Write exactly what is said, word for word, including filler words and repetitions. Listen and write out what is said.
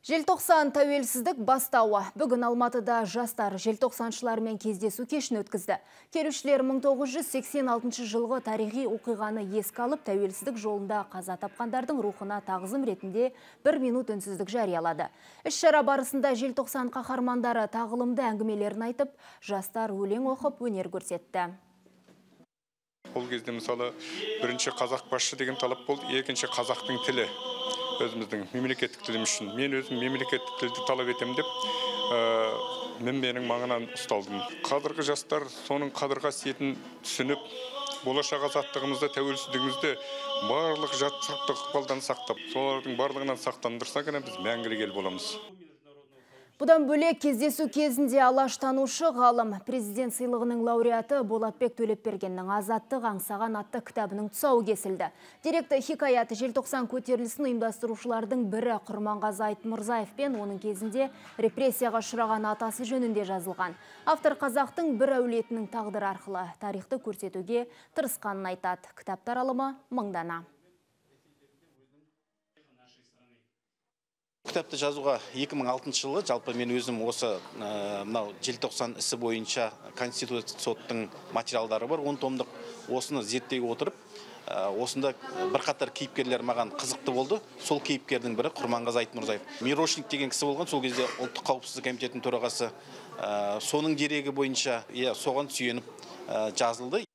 Желтоқсан тәуелсіздік бастауы. Бүгін Алматыда жастар желтоқсаншылармен кездесу кешін өткізді. Келушілер мың тоғыз жүз сексен алтыншы жылғы тарихи оқиғаны еске алып, тәуелсіздік жолында қаза тапқандардың рухына тағзым ретінде бір минут үнсіздік жариялады. Іс-шара барысында желтоқсан қаһармандары тағылымды әңгімелерін айтып, жастар өлең оқып өнер көрсетті. Ол кезде мысалы бірінші қазақ басшы деген талап болды, екінші қазақтың тілі. Өзіміздің мемлекеттік тілім үшін. Мен өзім мемлекеттік тілді талап етемін деп, мен менің маңынан ұсталдым. Қазіргі жастар соның қадір қасиетін түсініп, болашақ азаттығымызды, тәуелсіздігімізді барлық жатсырыптық ықпалдан сақтап, солардың барлығынан сақтандырса ғана біз мәңгілік ел боламыз. Бұдан бөлек кездесу кезінде алаштанушы ғалым президент сыйлығының лауреаты Болатбек Төлепбергеннің «Азаттық аңсаған» атты кітабының тұсауы кесілді. Деректі хикаяты желтоқсан көтерілісін ұйымдастырушылардың бірі Құрманғазы Айтмұрзаев пен оның кезінде репрессияға ұшыраған атасы жөнінде жазылған. Автор қазақтың бір әулетінің тағдыры арқылы тарихты көрсетуге тырысқанын айтады. Кітап таралымы мыңдана. Кітапты жазуға екі мың алтыншы жылы жалпы мен өзім осы мынау желтоқсан ісі бойынша Конституциялық соттың материалдары бар, он томдық. Осыны зерттей отырып, осында бірқатар кейіпкерлер маған қызықты болды. Сол кейіпкердің бірі Құрманғазы Айтмұрзаев. Мирошник деген кісі болған, сол кезде ұлттық қауіпсіздік комитетінің төрағасы. Соның дерегі бойынша соған сүйеніп жазылды.